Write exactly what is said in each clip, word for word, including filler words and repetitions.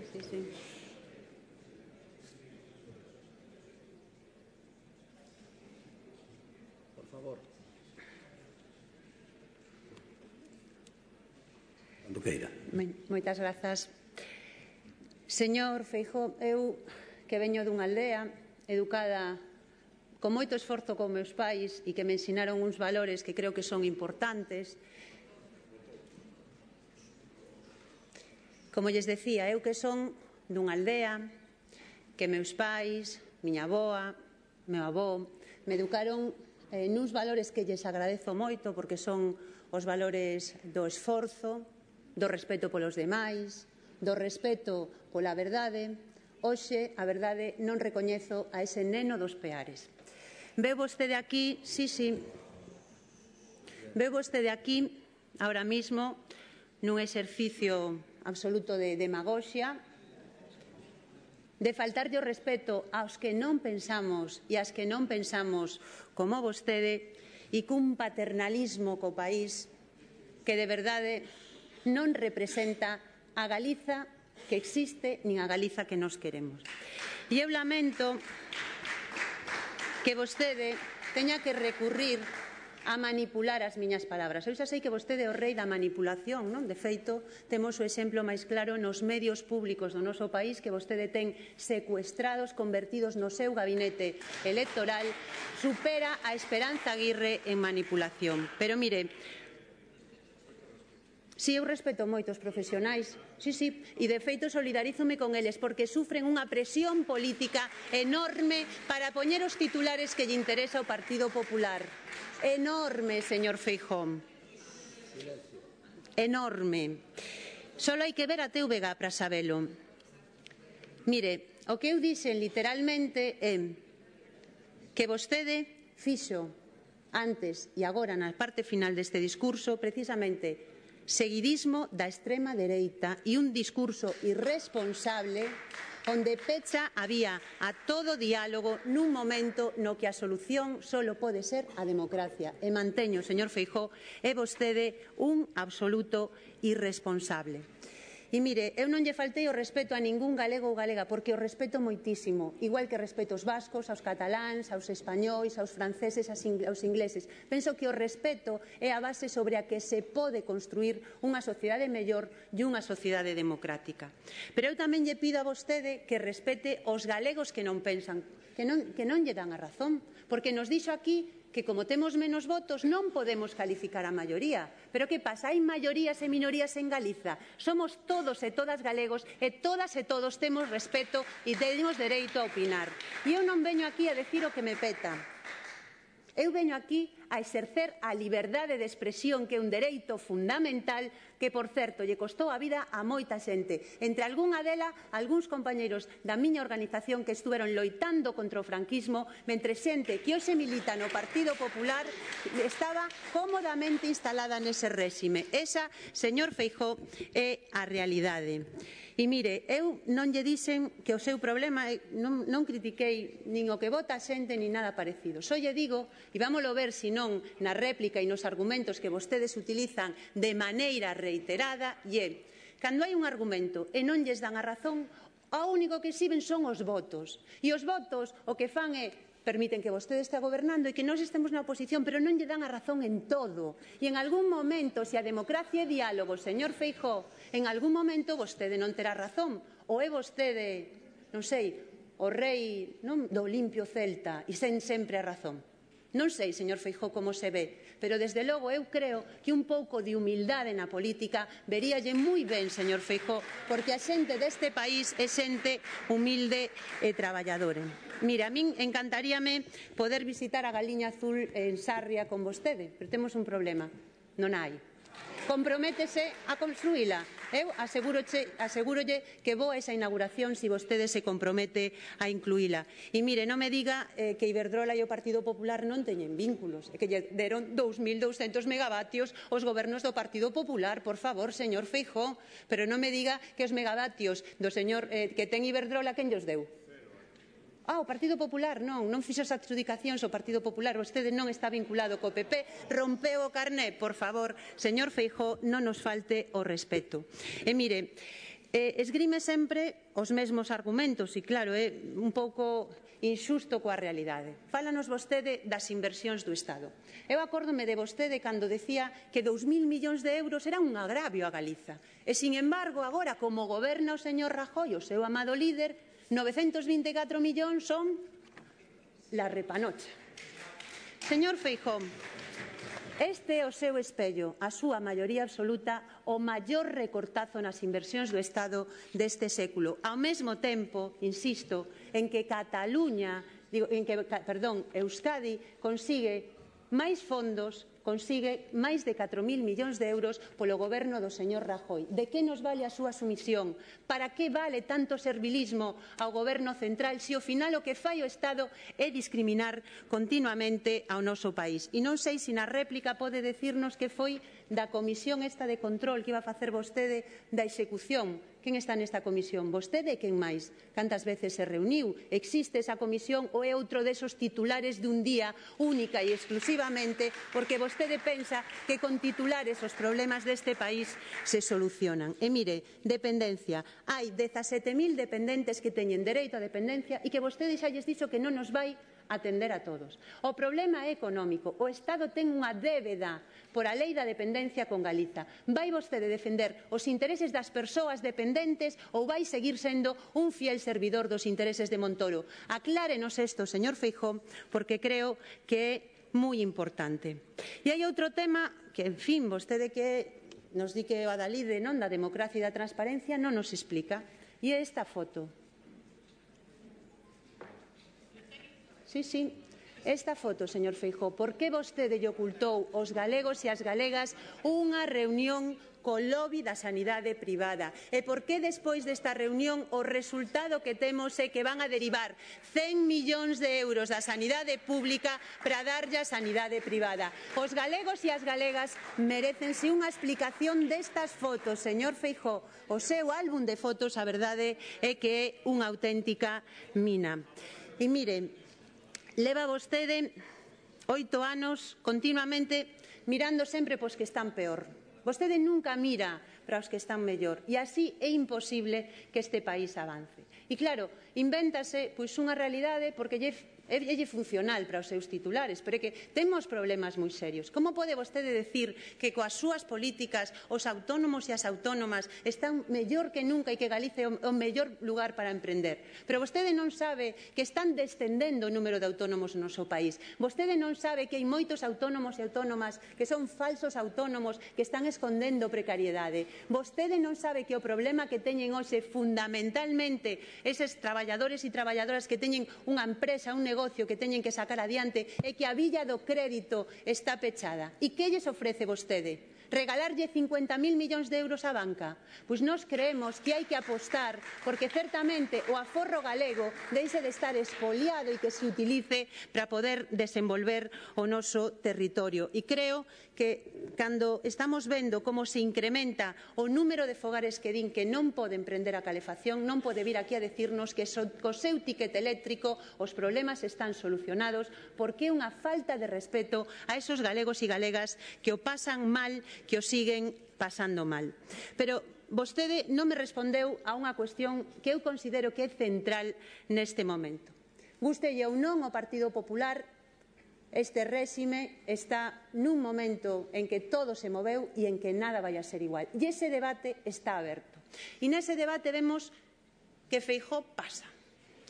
sí, sí, sí. Por favor. Cando queira. Moitas grazas. Señor Feijóo, eu que veño dunha aldea educada con moito esforzo con meus pais e que me ensinaron uns valores que creo que son importantes. Como lles decía, eu que son dunha aldea que meus pais, miña avoa, meu avó, me educaron eh, nuns valores que lles agradezo moito porque son os valores do esforzo, do respeto polos demais, do respeto pola verdade. Hoxe, a verdade, non recoñezo a ese neno dos Peares. Veu vostede aquí, sí, sí, veu vostede aquí, ahora mismo, nun exercicio absoluto de demagoxia, de faltarlle o respeto aos que non pensamos e ás que non pensamos como vostede e cun paternalismo co país que de verdade non representa a Galiza que existe nin a Galiza que nos queremos. E eu lamento que vostede teña que recurrir a manipular as miñas palabras. Eu xa sei que vostede é o rei da manipulación, non? De feito, temos o exemplo máis claro nos medios públicos do noso país que vostede ten secuestrados, convertidos no seu gabinete electoral, supera a Esperanza Aguirre en manipulación. Pero mire, si eu respeto moito os profesionais, sí, sí, e de feito solidarízome con eles porque sufren unha presión política enorme para poñer os titulares que lle interesa ao Partido Popular. Enorme, señor Feijóo. Enorme. Solo hai que ver a T V G para sabelo. Mire, o que eu dixen literalmente é que vostede fixo antes e agora na parte final deste discurso precisamente seguidismo da extrema dereita e un discurso irresponsable onde pecha a vía a todo diálogo nun momento no que a solución solo pode ser a democracia. E manteño, señor Feijóo, é vostede un absoluto irresponsable. E mire, eu non lle faltei o respeto a ningún galego ou galega porque o respeto moitísimo, igual que respeto aos vascos, aos cataláns, aos españois, aos franceses, aos ingleses. Penso que o respeto é a base sobre a que se pode construir unha sociedade mellor e unha sociedade democrática. Pero eu tamén lle pido a vostede que respete os galegos que non pensan, que non, que non lle dan a razón, porque nos dixo aquí que como temos menos votos non podemos calificar a maioría. Pero que pasa? Hai maiorías e minorías en Galiza. Somos todos e todas galegos e todas e todos temos respeto e temos dereito a opinar. E eu non veño aquí a decir o que me peta. Eu veño aquí a exercer a liberdade de expresión que é un dereito fundamental que, por certo, lle costou a vida a moita xente. Entre algunha dela, algúns compañeiros da miña organización que estuveron loitando contra o franquismo, mentre xente que hoxe milita no Partido Popular estaba cómodamente instalada nese réxime. Esa, señor Feijóo, é a realidade. E mire, eu non lle dixen que o seu problema, non, non critiquei nin o que vota a xente nin nada parecido. Só lle digo, e vámolo ver se non na réplica e nos argumentos que vostedes utilizan de maneira reiterada, e é, cando hai un argumento e non lles dan a razón, o único que exhiben son os votos. E os votos o que fan é permiten que vostede estea gobernando e que nós estemos na oposición, pero non lle dan a razón en todo. E en algún momento, se a democracia é diálogo, señor Feijóo, en algún momento vostede non terá razón. Ou é vostede, non sei, o rei non, do limpio celta e sen sempre a razón. Non sei, señor Feijóo, como se ve, pero desde logo eu creo que un pouco de humildade na política veríalle moi ben, señor Feijóo, porque a xente deste país é xente humilde e traballadora. Mira, a min encantaríame poder visitar a Galiña Azul en Sarria con vostede, pero temos un problema, non hai. Comprométese a construíla. Eu asegúrolle que vou a esa inauguración se vostede se compromete a incluíla. E mire, non me diga eh, que Iberdrola e o Partido Popular non teñen vínculos, que lle deron dous mil douscentos megavatios os gobernos do Partido Popular, por favor, señor Feijóo, pero non me diga que os megavatios do señor eh, que ten Iberdrola quen llos deu. Ah, o Partido Popular non, non fixo as adxudicacións o Partido Popular, vostede non está vinculado co P P, rompeu o carné, por favor, señor Feijóo, non nos falte o respeto. E mire, Eh, esgrime sempre os mesmos argumentos e, claro, é un pouco inxusto coa realidade. Fálanos vostede das inversións do Estado. Eu acórdome de vostede cando decía que dous mil millóns de euros era un agravio a Galiza. E, sin embargo, agora, como goberna o señor Rajoy, o seu amado líder, novecentos vinte e catro millóns son la repanocha. Señor Feijóo, este é o seu espello, a súa maioría absoluta, o maior recortazo nas inversións do Estado deste século. Ao mesmo tempo, insisto, en que Cataluña, digo, en que, perdón, Euskadi consigue máis fondos, consigue máis de catro mil millóns de euros polo goberno do señor Rajoy. De que nos vale a súa sumisión? Para que vale tanto servilismo ao goberno central se ao final o que fai o Estado é discriminar continuamente ao noso país? E non sei se na réplica pode decirnos que foi da comisión esta de control que iba a facer vostede da execución. Quen está nesta comisión? Vostede e quen máis? Cantas veces se reuniu? Existe esa comisión ou é outro desos titulares dun día única e exclusivamente porque vostede pensa que con titulares os problemas deste país se solucionan? E mire, dependencia. Hai dezasete mil dependentes que teñen dereito a dependencia e que vostede xa lles dixo que non nos vai atender a todos. O problema é económico. O Estado ten unha débeda por a lei da dependencia con Galiza. Vai vostede defender os intereses das persoas dependentes ou vai seguir sendo un fiel servidor dos intereses de Montoro? Aclárenos isto, señor Feijóo, porque creo que é moi importante. E hai outro tema que, en fin, vostede que nos di que o adalide non da democracia e da transparencia non nos explica. E é esta foto. Sí, sí. Esta foto, señor Feijóo, por que vostede lle ocultou aos galegos e ás galegas unha reunión co lobby da sanidade privada? E por que despois desta reunión o resultado que temos é que van a derivar cen millóns de euros da sanidade pública para darlle a sanidade privada? Os galegos e as galegas merécense unha explicación destas fotos, señor Feijóo. O seu álbum de fotos, a verdade, é que é unha auténtica mina. E mire, leva vostede oito anos continuamente mirando sempre pos que están peor. Vostede nunca mira para os que están mellor e así é imposible que este país avance. E claro, invéntase pois unha realidade porque lle é lle funcional para os seus titulares, pero é que temos problemas moi serios. Como pode vostede decir que coas súas políticas os autónomos e as autónomas están mellor que nunca e que Galicia é o mellor lugar para emprender? Pero vostede non sabe que están descendendo o número de autónomos no noso país. Vostede non sabe que hai moitos autónomos e autónomas que son falsos autónomos que están escondendo precariedade. Vostede non sabe que o problema que teñen hoxe fundamentalmente eses traballadores e traballadoras que teñen unha empresa, un negocio que teñen que sacar adiante e que a villa do crédito está pechada. E que lles ofrece vostede? Regalarlle cincuenta mil millóns de euros á banca? Pois nós creemos que hai que apostar porque certamente o aforro galego deixe de estar expoliado e que se utilice para poder desenvolver o noso territorio. E creo que cando estamos vendo como se incrementa o número de fogares que din que non poden prender a calefacción, non pode vir aquí a decirnos que co seu ticket eléctrico os problemas están solucionados porque é unha falta de respeto a esos galegos e galegas que o pasan mal, que o siguen pasando mal. Pero vostede non me respondeu a unha cuestión que eu considero que é central neste momento. Gústelle ou non o Partido Popular, este réxime está nun momento en que todo se moveu e en que nada vai a ser igual. E ese debate está aberto. E nese debate vemos que Feijóo pasa.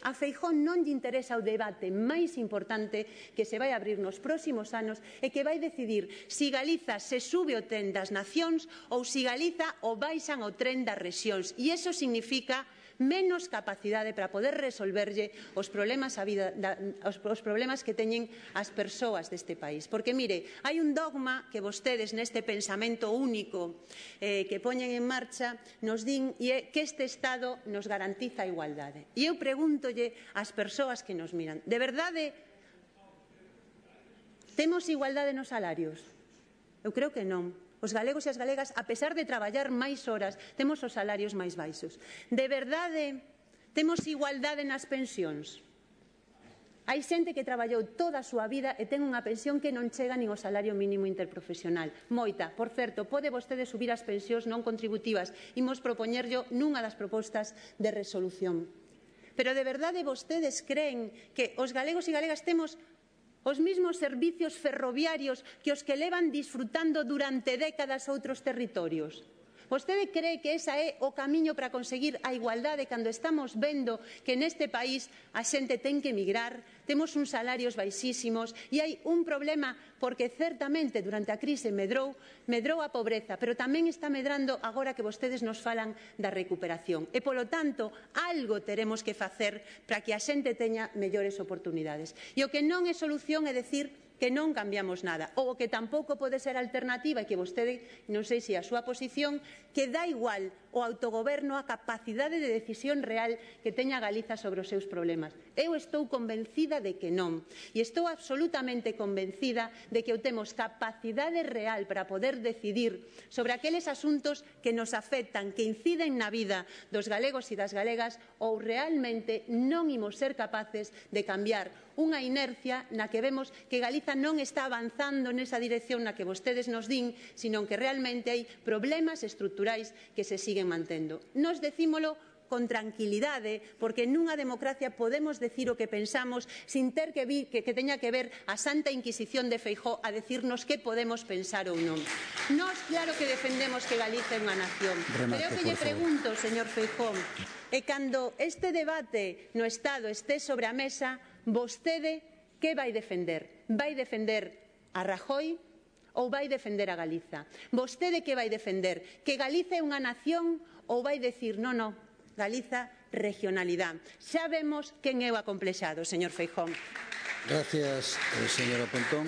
A Feijóo non lle interesa o debate máis importante que se vai abrir nos próximos anos e que vai decidir se Galiza se sube o tren das nacións ou se Galiza o baixan o tren das rexións. E iso significa menos capacidade para poder resolverlle os problemas, a vida, da, os, os problemas que teñen as persoas deste país. Porque, mire, hai un dogma que vostedes neste pensamento único eh, que poñen en marcha nos din e é que este Estado nos garantiza a igualdade. E eu pregúntolle ás persoas que nos miran, de verdade temos igualdade nos salarios? Eu creo que non. Os galegos e as galegas, a pesar de traballar máis horas, temos os salarios máis baixos. De verdade, temos igualdade nas pensións? Hai xente que traballou toda a súa vida e ten unha pensión que non chega nin ao salario mínimo interprofesional. Moita. Por certo, pode vostede subir as pensións non contributivas. Imos propoñerllo nunha das propostas de resolución. Pero de verdade vostedes creen que os galegos e galegas temos os mesmos servicios ferroviarios que os que levan disfrutando durante décadas outros territorios? Vostede cree que esa é o camiño para conseguir a igualdade cando estamos vendo que neste país a xente ten que emigrar, temos uns salarios baixísimos e hai un problema porque certamente durante a crise medrou, medrou a pobreza, pero tamén está medrando agora que vostedes nos falan da recuperación. E, polo tanto, algo teremos que facer para que a xente teña mellores oportunidades. E o que non é solución é decir que non cambiamos nada, ou o que tampouco pode ser alternativa e que vostede, non sei se a súa posición, que dá igual o autogoberno, a capacidade de decisión real que teña Galiza sobre os seus problemas. Eu estou convencida de que non. E estou absolutamente convencida de que eu temos capacidade real para poder decidir sobre aqueles asuntos que nos afectan, que inciden na vida dos galegos e das galegas, ou realmente non imos ser capaces de cambiar unha inercia na que vemos que Galiza non está avanzando nesa dirección na que vostedes nos din, sino que realmente hai problemas estruturais que se siguen mantendo. Nos decímolo con tranquilidade, porque nunha democracia podemos decir o que pensamos sin ter que, vi, que, que teña que ver a Santa Inquisición de Feijóo a decirnos que podemos pensar ou non. Nós claro que defendemos que Galiza é unha nación, Remate, pero eu que lle pregunto, señor Feijóo, e cando este debate no Estado este sobre a mesa, vostede que vai defender? Vai defender a Rajoy ou vai defender a Galiza? Vostede que vai defender? Que Galiza é unha nación ou vai decir, non, non, Galiza, regionalidade? Xa vemos quen é o acomplexado, señor Feijóo. Gracias, señora Pontón.